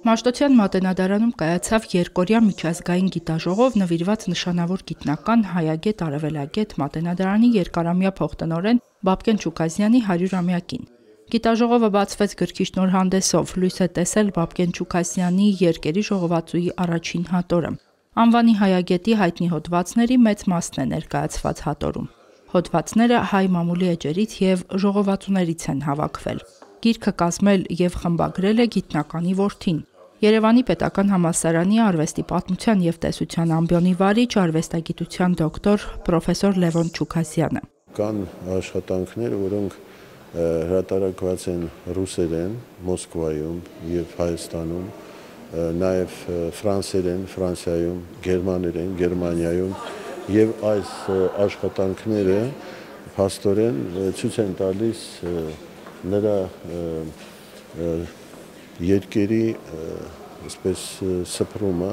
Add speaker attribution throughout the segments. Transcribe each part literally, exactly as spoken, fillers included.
Speaker 1: Մաշտոցյան մատենադարանում կայացավ երկօրյա միջազգային գիտաժողով նվիրված նշանավոր գիտնական, հայագետ, արևելագետ, մատենադարանի երկարամյա փոխտնօրեն Բաբկեն Չուկազյանի հարյուրամյակին։ Գիտաժողովը բացվեց գրքի շնորհանդեսով, լույս է տեսել Բաբկեն Չուկազյանի երկերի ժողովածուի առաջին հատորը։ Անվանի հայագետի հայտնի հոդվածների մեծ մասն է ներկայացված հատորում։ Հոդվածները հայ մամուլի էջերից և ժողովածուներից են հավաքվել։ Գիրքը կազմել և խմբագրել է գիտնականի որդին։ Երևանի պետական համալսարանի արվեստի պատմության և տեսության ամբիոնի վարիչ, արվեստագիտության դոկտոր պրոֆեսոր Լևոն Չուկազյանը։
Speaker 2: Կան աշխատանքներ, որոնք հրատարակված են ռուսերեն Մոսկվայում և Հայաստանում, նաև ֆրանսերեն Ֆրանսիայում, գերմաներեն Գերմանիայում, և այս աշխատանքները փաստորեն ցույց են տալիս նրա երկերի այսպես սփռումը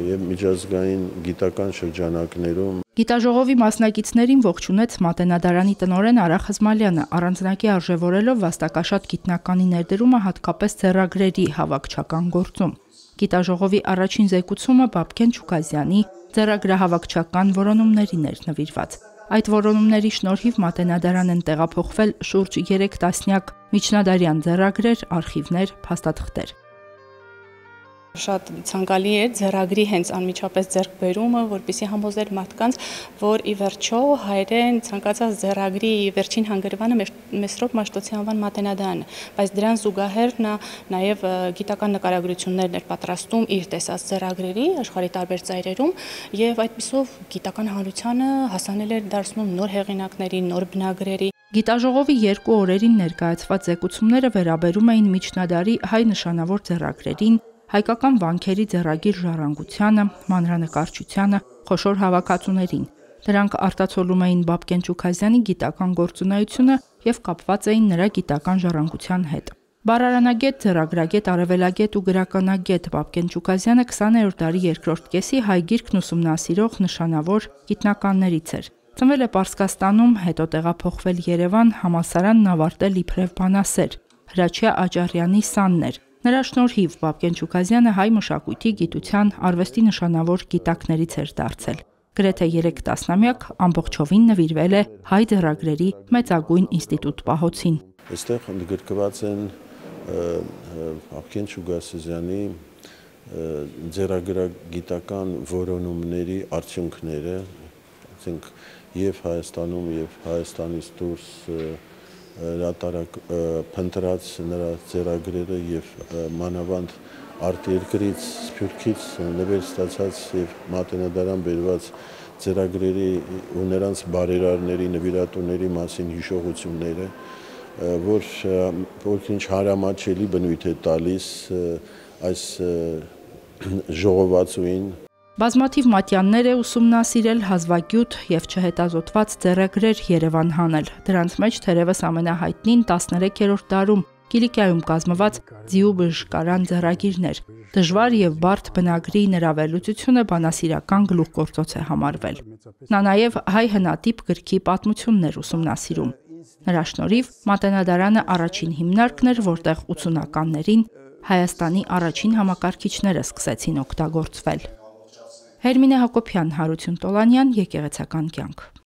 Speaker 2: և միջազգային գիտական շրջանակներում։
Speaker 1: Գիտաժողովի մասնակիցներին ողջունեց մատենադարանի տնօրեն Արա Խզմալյանը, առանձնակի արժևորելով վաստակաշատ գիտնականի ներդրումը հատկապես ձեռագրերի հավաքչական գործում։ Գիտաժողովի առաջին զեկուցումը Բաբկեն Չուկազյանի ձեռագրահավաքչական որոնումներին էր նվիրված։ Այդ որոնումների շնորհիվ մատենադարան են տեղափոխվել շուրջ երեք տասնյակ միջնադարյան ձեռագրեր, արխիվներ, փաստաթղթեր։
Speaker 3: Շատ ցանկալի է ձեռագրի հենց անմիջապես ձեռքբերումը, որպեսզի համոզել մարդկանց, որ ի վերջո հայերեն ցանկացած ձեռագրի վերջին հանգրվանը Մեսրոպ Մաշտոցի անվան մատենադարանը, բայց դրան զուգահեռ նա նաև գիտական նկարագրություններ էր պատրաստում իր տեսած ձեռագրերի աշխարհի տարբեր ծայրերում եւ այդպիսով գիտական հանրությանը հասանել էր դարձնում նոր հեղինակների, նոր բնագրերի։
Speaker 1: Գիտաժողովի երկու օրերին ներկայացված զեկուցումները վերաբերում էին միջնադարի հայ նշանավոր ձեռագրերին, հայկական վանքերի ձեռագիր ժառանգությանը, մանրանկարչությանը, խոշոր հավաքածուներին։ Դրանք արտացոլում էին Բաբկեն Չուկազյանի գիտական գործունեությունը և կապված էին նրա գիտական ժառանգության հետ։ Բառարանագետ, ձեռագրագետ, արևելագետ ու գրականագետ Բաբկեն Չուկազյանը քսաներորդ դարի երկրորդ կեսի հայ գիրքն ուսումնասիրող նշանավոր գիտնականներից էր։ Ծնվել է Պարսկաստանում, հետո տեղափոխվել Երևան, համալսարանն ավարտել իբրև բանասեր, Հրաչյա Աճարյանի սանն էր։ Նրա շնորհիվ Բաբկեն Չուկազյանը հայ մշակույթի, գիտության, արվեստի նշանավոր գիտակներից էր դարձել։ Գրեթե երեք տասնամյակ ամբողջովին նվիրվել է հայ ձեռագրերի մեծագույն ինստիտուտ պահոցին։
Speaker 2: Այստեղ ընդգրկված են Բաբկեն Չուկազյանի ձեռագրագիտական որոնումների արդյունքները, ասենք և Հայաստանում, և Հայաստանից դուրս հրատարակ փնտրած նրա ձեռագրերը և մանավանդ արտերկրից Սփյուռքից նվեր ստացած և մատենադարան բերված ձեռագրերի ու նրանց բարերարների, նվիրատուների մասին հիշողությունները, որ ոքինչ հարամատչելի բնույթ է տալիս այս ժողովածուին։
Speaker 1: Բազմաթիվ մատյաններ է ուսումնասիրել, հազվագյուտ և չհետազոտված ձեռագրեր Երևան հանել։ Դրանց մեջ թերևս ամենահայտնին տասներեքերորդ դարում Կիլիկիայում կազմված ձիուբժշկարան ձեռագիրներ։ Դժվար և բարդ բնագրի նրա վերլուծությունը բանասիրական գլուխգործոց է համարվել։ Նա նաև հայ հնատիպ գրքի պատմությունն էր ուսումնասիրում։ Նրա շնորհիվ մատենադարանը առաջին հիմնարկն էր, որտեղ ութսունականներին Հայաստանի առաջին համակարգիչները սկսեցին օգտագործվել։ Հերմինե Հակոբյան, Հարություն Տոլանյան, Եկեղեցական կյանք։